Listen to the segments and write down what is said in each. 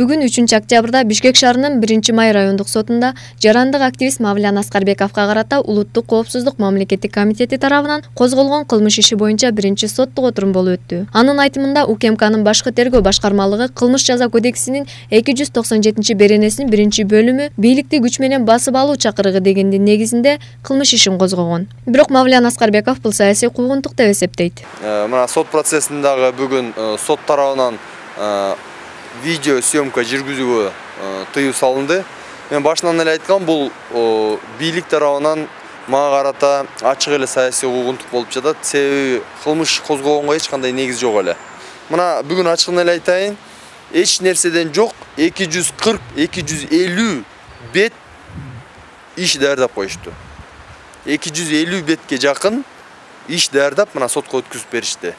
Бүгүн 3-октябрда Бишкек шаарынын 1-Май райондук сотунда жарандык активист Мавлян Аскарбековго карата Улуттук коопсуздук мамлекеттик комитети тарабынан козголгон кылмыш иши боюнча биринчи соттук отурум болуп өттү. Анын айтымында УКМКнын башкы тергөө башкармалыгы кылмыш жаза кодексинин 297-беренесинин 1-бөлүмү бийликти күч менен басып алуу чакырыгы дегендин негизинде кылмыш ишин козгогон. Бирок Мавлян Аскарбеков бул саясий куугунтук деп эсептейт. Мына сот процессиндагы бүгүн сот тарабынан видео съемка жүргүзүүгө тыюу салынды. Мен башынан эле айткам, бул бийлик тарабынан мага карата ачык эле саясий куугунтук болуп жатат. Себеби кылмыш козгогонго эч кандай негиз жок эле. Мына бүгүн ачыгын эле айтайын, эч нерседен жок 240-250 бет иш даярдап коюшту. 250 бетке жакын иш даярдап мына сотко өткүзүп беришти.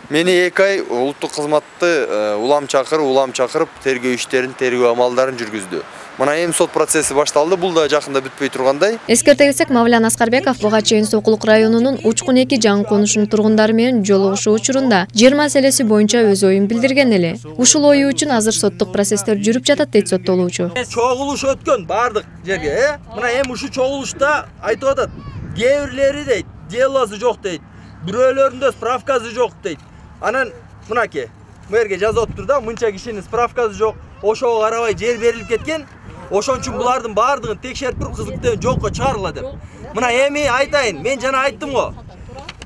Мени 2 ай улуттук кызматты улам чакырып тергөө иштерин, тергөө амалдарын жүргүздү. Мына эми сот процесси башталды, бул да жакында бүтпөй тургандай. Эскерте кетсек, Мавлян Аскарбеков буга чейин Сокулук районунун Учкун 2 жаңы конушунун тургундары менен жолугушуу учурунда жер маселеси боюнча өз оюн билдирген эле. Ушул ою үчүн азыр соттук процесстер жүрүп жатат дейт соттолуучу. Чогулуш өткөн бардык жерге, мына эми ушу чогулушта айтып атат. Кээ бирлери дейт, делосы жок дейт. Бирөөлөрүндө справкасы жок дейт. Анан мынаке, мэрге жазып отур да, мынча кишинин справкасы жок, ошого карабай жер берилип кеткен. Ошон үчүн булардын бардыгын текшерип туруп кызматтан жокко чыгаргыла деп. Мына эми айтайын, мен жана айттым го.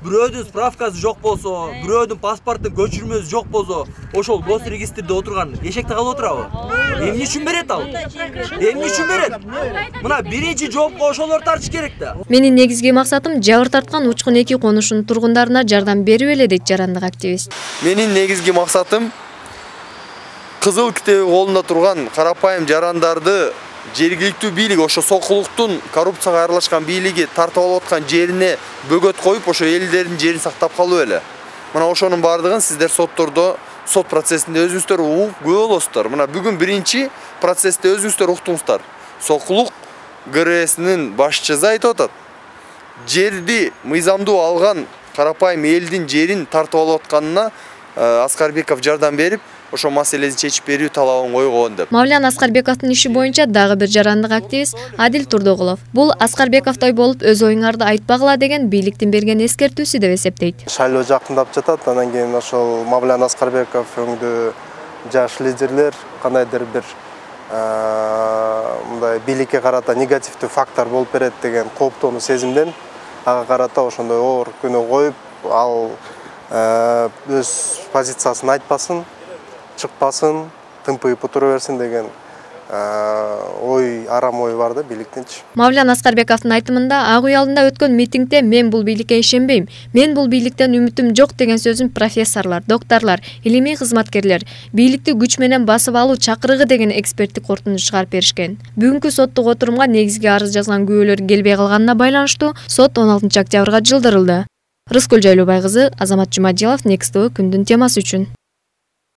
Бирөөдүн справкасы жок болсо, бирөөдүн паспорттун көчүрмөсү жок болсо, ошол гос регистрде отурган эшекте калып отурабы? Эмне үчүн берет ал? Эмне үчүн берет? Мына биринчи жоопко ошолор тартыш керек да. Менин негизги максатым жабыр тарткан Учкун 2 конушунун тургундарына жардам берүү эле дейт жарандык активист. Менин негизги максатым кызыл китеби колунда турган карапайым жарандарды жергиликтүү бийлик, ошо Сокулуктун коррупцияга аралашкан бийлиги тартып алып аткан жерине бөгөт коюп, ошо элдердин жерин сактап калуу эле. Мына ошонун бардыгын сиздер соттордо, сот процессинде өзүңүздөр угуп көрө болосуздар. Мына бүгүн биринчи процессте өзүңүздөр уктуңуздар. Сокулук ГРСнин башчысы айтып атат. Жерди мыйзамдуу алган карапайым элдин жерин тартып алып атканына Аскарбеков жардам берип, ошо маселени чечип берүү талабын койгон деп. Мавлян Аскарбековдун иши боюнча дагы бир жарандык активист Адил Турдоголов бул Аскарбековдой болуп өз оюңарды айтпагыла деген бийликтин берген эскертүүсү деп эсептейт. Шайлоо жакындап жатат, анан кийин ошол Мавлян Аскарбеков өңдүү жаш лидерлер кандайдыр бир мындай бийликке карата негативдүү фактор болуп берет деген кооптонуу сезимден ага карата ошондой оор күнөө коюп, ал өз позициясын айтпасын, чыкпасын, тымпыйып отура берсин деген ой, арам ой бар да бийликтинчи. Мавлян Аскарбековдун айтымында Ак үй алдында өткөн митингде мен бул бийликке ишенбейм, мен бул бийликтен үмүтүм жок деген сөзүн профессорлор, докторлор, илимий кызматкерлер бийликти күч менен басып алуу чакырыгы деген эксперттик корутунду чыгарып беришкен. Бүгүнкү соттук отурумга негизги арыз жазган күбөлөр келбей калганына байланыштуу сот 16 октябрга жылдырылды. Рыскүл Жайлообай кызы, Азамат Жумадилов, Next TV күндүн темасы үчүн.